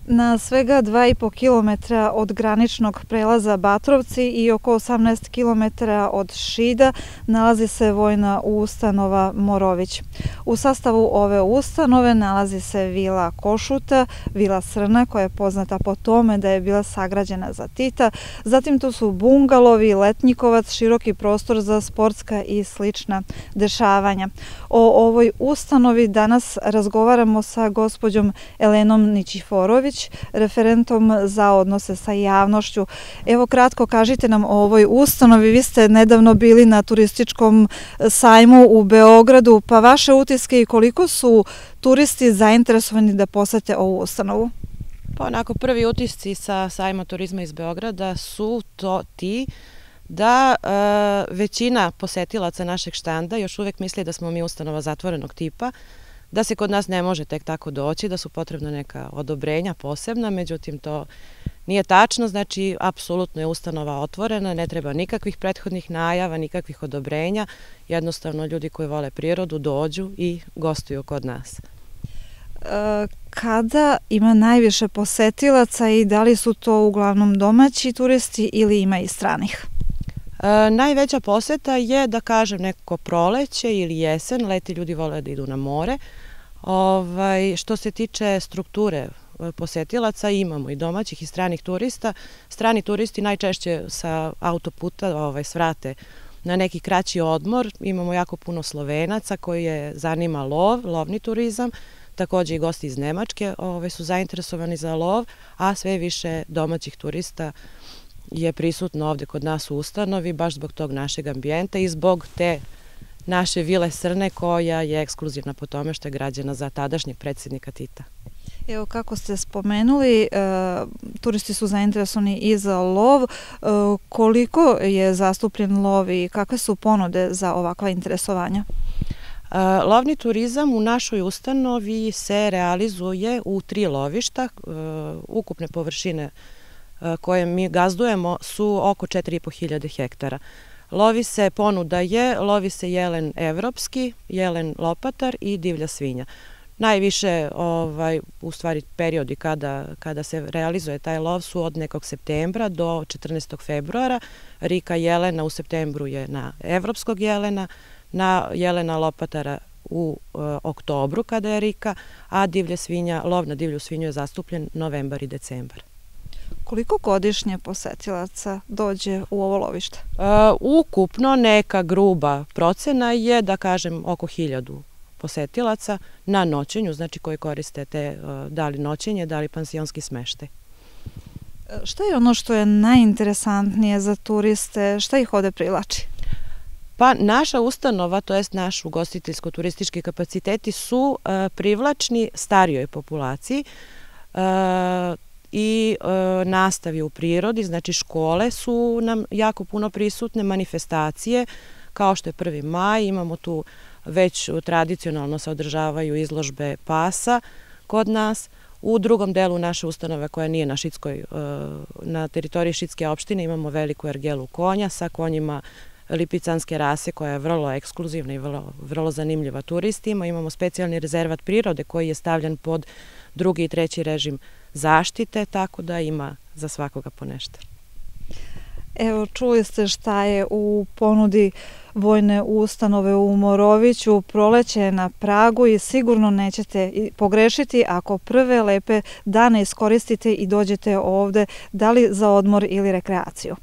Na svega 2,5 km od graničnog prelaza Batrovci i oko 18 km od Šida nalazi se vojna ustanova Morović. U sastavu ove ustanove nalazi se vila Košuta, vila Srna koja je poznata po tome da je bila sagrađena za Tita, zatim tu su bungalovi, letnjikovac, široki prostor za sportska i slična dešavanja. O ovoj ustanovi danas razgovaramo sa gospođom Elenom Nićiforović, referentom za odnose sa javnošću. Evo kratko kažite nam o ovoj ustanovi. Vi ste nedavno bili na turističkom sajmu u Beogradu, pa vaše utiske i koliko su turisti zainteresovani da posete ovu ustanovu? Pa onako prvi utisci sa sajma turizma iz Beograda su ti da većina posetilaca našeg štanda još uvek misli da smo mi ustanova zatvorenog tipa, da se kod nas ne može tek tako doći, da su potrebna neka odobrenja posebna, međutim to nije tačno, znači apsolutno je ustanova otvorena, ne treba nikakvih prethodnih najava, nikakvih odobrenja, jednostavno ljudi koji vole prirodu dođu i gostuju kod nas. Kada ima najviše posetilaca i da li su to uglavnom domaći turisti ili ima i stranih? Najveća poseta je, da kažem, neko proleće ili jesen, leti ljudi vole da idu na more. Što se tiče strukture posetilaca, imamo i domaćih i stranih turista. Strani turisti najčešće sa autoputa svrate na neki kraći odmor. Imamo jako puno Slovenaca koji je zanima lovni turizam. Takođe i gosti iz Nemačke su zainteresovani za lov, a sve više domaćih turista je prisutno ovde kod nas u ustanovi, baš zbog tog našeg ambijenta i zbog te naše vile Srne koja je ekskluzivna po tome što je građena za tadašnjeg predsjednika Tita. Evo kako ste spomenuli, turisti su zainteresovani i za lov. Koliko je zastupljen lov i kakve su ponude za ovakva interesovanja? Lovni turizam u našoj ustanovi se realizuje u 3 lovišta. Ukupne površine koje mi gazdujemo su oko 4.500 hektara. Lovi se jelen evropski, jelen lopatar i divlja svinja. Najviše, u stvari, periodi kada se realizuje taj lov su od nekog septembra do 14. februara. Rika jelena u septembru je na evropskog jelena, na jelena lopatara u oktobru kada je rika, a lov na divlju svinju je zastupljen novembar i decembar. Koliko godišnje posetilaca dođe u ovo lovište? Ukupno neka gruba procena je, da kažem, oko 1000 posetilaca na noćenju, znači koji koriste da li noćenje, da li pansionski smeštaj. Šta je ono što je najinteresantnije za turiste? Šta ih ovde privlači? Pa naša ustanova, to jest naš ugostiteljsko-turistički kapaciteti su privlačni starijoj populaciji i nastavi u prirodi, znači škole su nam jako puno prisutne, manifestacije, kao što je 1. maj, imamo tu već tradicionalno se održavaju izložbe pasa kod nas. U drugom delu naše ustanove koja nije na teritoriji Šidske opštine imamo veliku ergelu konja sa konjima lipicanske rase koja je vrlo ekskluzivna i vrlo zanimljiva turistima. Imamo specijalni rezervat prirode koji je stavljen pod 2. i 3. režim zaštite, tako da ima za svakoga po nešto. Evo, čuli ste šta je u ponudi vojne ustanove u Moroviću. Proleće je na pragu i sigurno nećete pogrešiti ako prve lepe dane iskoristite i dođete ovde, da li za odmor ili rekreaciju.